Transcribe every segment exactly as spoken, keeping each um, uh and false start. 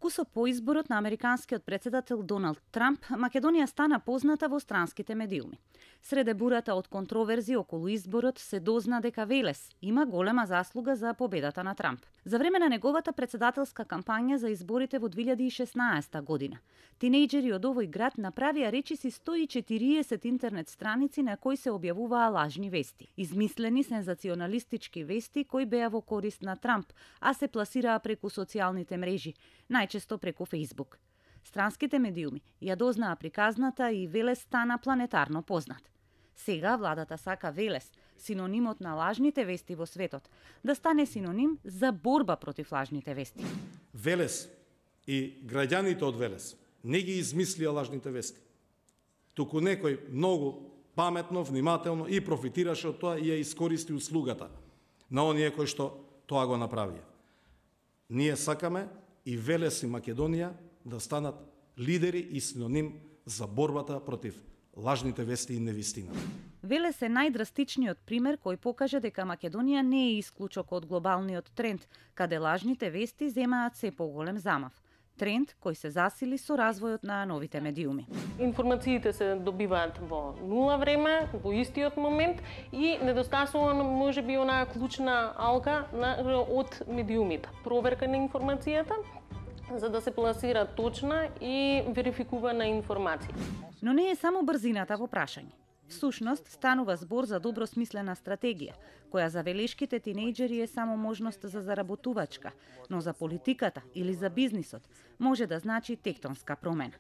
Кусо по изборот на американскиот претседател Доналд Трамп, Македонија стана позната во странските медиуми. Среде бурата од контроверзи околу изборот се дозна дека Велес има голема заслуга за победата на Трамп. За време на неговата претседателска кампања за изборите во две илјади и шеснаесета година, тинејџери од овој град направија речиси сто и четириесет интернет страници на кои се објавуваа лажни вести. Измислени сензационалистички вести кои беа во корист на Трамп, а се пласираа преку социјалните мрежи, најчесто преку Фејсбук. Странските медиуми ја дознаа приказната и Велес стана планетарно познат. Сега владата сака Велес, синонимот на лажните вести во светот, да стане синоним за борба против лажните вести. Велес и граѓаните од Велес не ги измислија лажните вести. Туку некој многу паметно, внимателно и профитираше од тоа и ја искористи услугата на оние кои што тоа го направија. Ние сакаме и Велес и Македонија да станат лидери и синоним за борбата против лажните вести и невистината. Велес е најдрастичниот пример кој покажа дека Македонија не е исклучок од глобалниот тренд, каде лажните вести земаат се поголем замав. Тренд кој се засили со развојот на новите медиуми. Информациите се добиваат во нула време, во истиот момент и недостасува можеби онаа клучна алка на, од медиумите. Проверка на информацијата за да се пласира точна и верификувана информација. Но не е само брзината во прашање. Всушност, станува збор за добро смислена стратегија, која за велешките тинејџери е само можност за заработувачка, но за политиката или за бизнисот може да значи тектонска промена.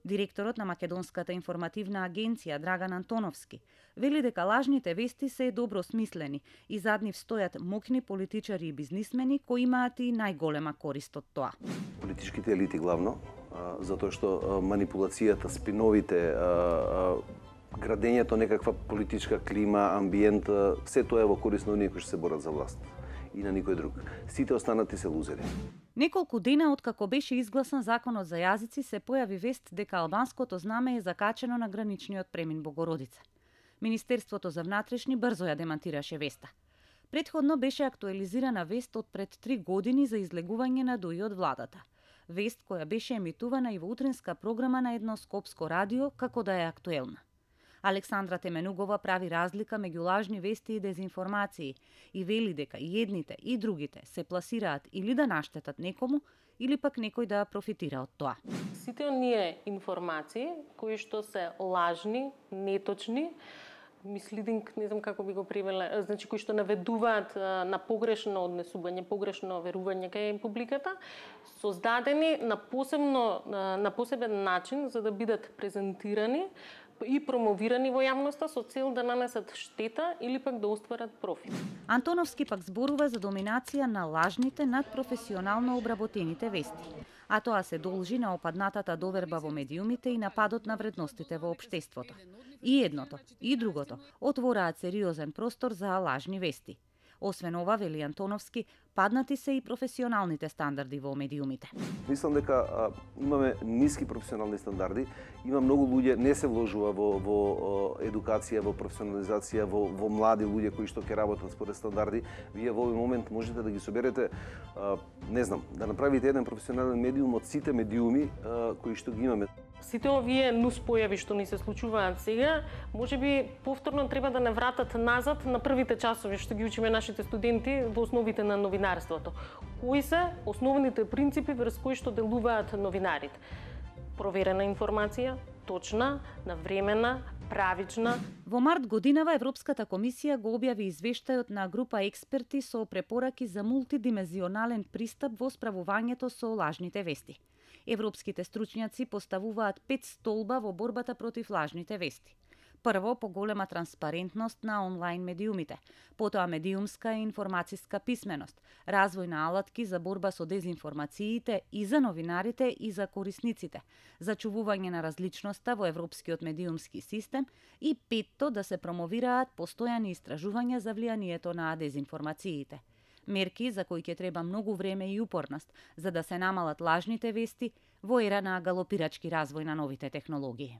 Директорот на Македонската информативна агенција Драган Антоновски вели дека лажните вести се добро смислени и зад нив стојат мокни политичари и бизнисмени кои имаат и најголема корист од тоа. Политичките елити главно, затоа што манипулацијата, спиновите, градењето некаква политичка клима, амбиент, се тоа е во корист на оние кои што се борат за власт и на никој друг. Сите останати се лузери. Неколку дена откако беше изгласан законот за јазици, се појави вест дека албанското знаме е закачено на граничниот премин Богородица. Министерството за внатрешни брзо ја демантираше веста. Претходно беше актуализирана вест од пред три години за излегување на Дуи од владата. Вест која беше емитувана и во утринска програма на едно скопско радио како да е актуелна. Александра Теменугова прави разлика меѓу лажни вести и дезинформации и вели дека и едните и другите се пласираат или да наштетат некому, или пак некој да профитира од тоа. Сите оние информации кои што се лажни, неточни, мислидинг, не знам како би го превела, значи кои што наведуваат на погрешно однесување, погрешно верување кај публиката, создадени на посебно на посебен начин за да бидат презентирани и промовирани во јавноста со цел да нанесат штета или пак да остварат профит. Антоновски пак зборува за доминација на лажните над професионално обработените вести, а тоа се должи на опаднатата доверба во медиумите и нападот на вредностите во општеството. И едното, и другото отвораат сериозен простор за лажни вести. Освен ова, вели Антоновски, паднати се и професионалните стандарди во медиумите. Мислам дека а, имаме ниски професионални стандарди, има многу луѓе не се вложува во, во едукација, во професионализација, во, во млади луѓе кои што ќе работат според стандарди. Вие во овој момент можете да ги соберете, а, не знам, да направите еден професионален медиум од сите медиуми а, кои што ги имаме. Сите овие нус појави што ни се случуваат сега, можеби повторно треба да не вратат назад на првите часови што ги учиме нашите студенти во основите на новинарството. Кои се основните принципи врз кои што делуваат новинарите? Проверена информација, точна, навремена, правична. Во март годинава Европската комисија го објави извештајот на група експерти со препораки за мултидимензионален пристап во справувањето со лажните вести. Европските стручњаци поставуваат пет столба во борбата против лажните вести. Прво, поголема транспарентност на онлайн медиумите, потоа медиумска и информацијска писменост, развој на алатки за борба со дезинформациите и за новинарите и за корисниците, зачувување на различноста во европскиот медиумски систем и петто да се промовираат постојани истражувања за влијанието на дезинформациите. Мерки за кои ќе треба многу време и упорност за да се намалат лажните вести во ера на галопирачки развој на новите технологии.